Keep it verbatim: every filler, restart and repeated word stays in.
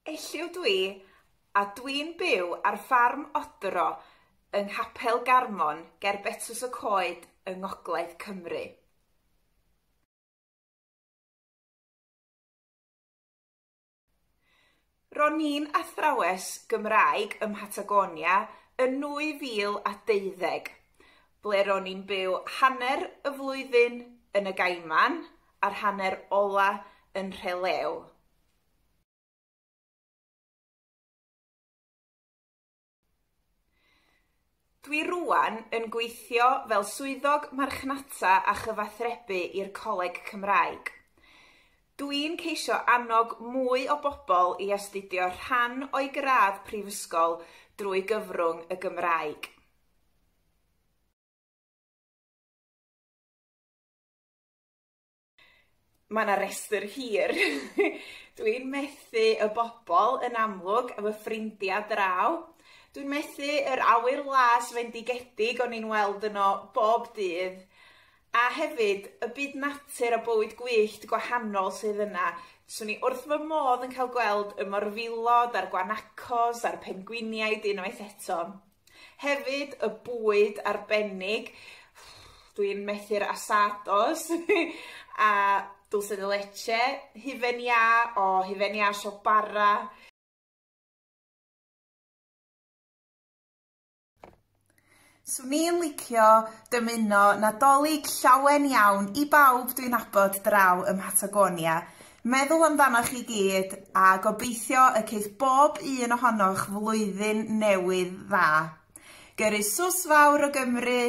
Elliw dwi, a dwi'n byw ar ffarm Odro yng Nghapel Garmon ger Betws y Coed yng Ngogledd Cymru. Ro'n i'n athrawes Gymraeg ym Mhatagonia yn nwy fil a deuddeg, ble ro'n i'n byw hanner y flwyddyn yn y Gaiman a'r hanner ola yn Rhelew. Dwi rŵan yn gweithio fel swyddog marchnata a chyfathrebu i'r Coleg Cymraeg. Dwi'n ceisio annog mwy o bobl i astudio rhan o'i gradd prifysgol drwy gyfrwng y Gymraeg. Mae 'na restr hir. Dwi'n methu y bobl yn amlwg, efo ffrindiau draw. Dwi'n methu yr awyr las fendigedig o'n i'n weld yno bob dydd. A hefyd, y byd natur a bywyd gwyllt gwahanol sydd yna. Swn i wrth fy modd yn cael gweld y morfilod a'r guanacos a'r pengwiniaid unwaith eto. Hefyd, y bwyd arbennig. Dwi'n methu'r asados a dulce de leche, hufen iâ, o hufen iâ siop bara. Swn i'n licio dymuno Nadolig llawen iawn i bawb dwi'n nabod draw ym Mhatagonia. Meddwl amdanoch chi gyd a gobeithio y ceith bob un ohonoch flwyddyn newydd dda. Gyrru sws fawr o Gymru!